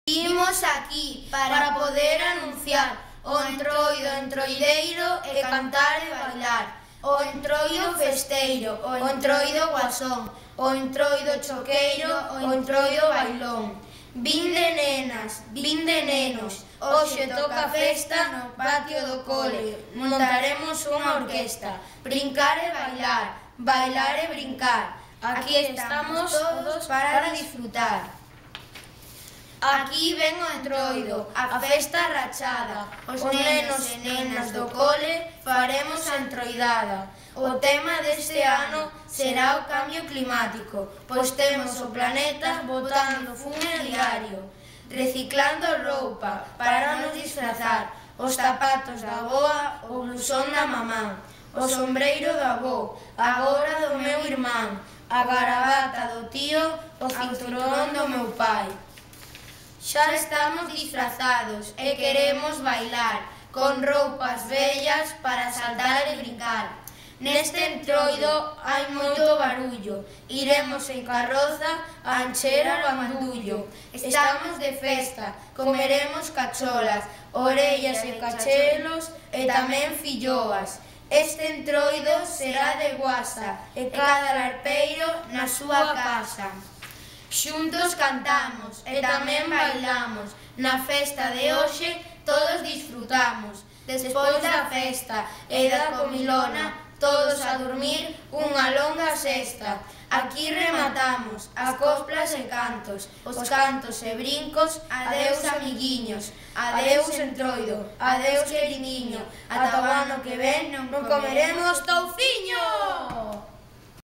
Imos aquí para poder anunciar o entroido entroideiro e cantar e bailar, o entroido festeiro, o entroido guasón, o entroido choqueiro, o entroido bailón. Vinde nenas, vinde nenos, hoxe toca festa no patio do cole, montaremos unha orquesta, brincar e bailar, bailar e brincar. Aquí estamos todos para disfrutar. Aquí ven o entroido, a festa rachada, os nenos e nenas do cole faremos a entroidada. O tema deste ano será o cambio climático, pois temos o planeta botando fume diario, reciclando roupa para nos disfrazar, os zapatos da avoa, o blusón da mamá, o sombreiro do avó, agora do meu irmán, a garabata do tío, o cinturón do meu pai. Xa estamos disfrazados e queremos bailar, con roupas vellas para saltar e brincar. Neste entroido hai moito barullo, iremos en carroza a encher o bandullo. Estamos de festa, comeremos cacholas, orellas e cachelos e tamén filloas. Este entroido será de guasa e cada larpeiro na súa casa. Xuntos cantamos e tamén bailamos, na festa de hoxe todos disfrutamos. Despois da festa e da comilona, todos a dormir unha longa sesta. Aquí rematamos as coplas e cantos, os cantos e brincos, adeus amiguiños, adeus entroido, adeus queridiño, ata o ano que ven non comeremos touciño!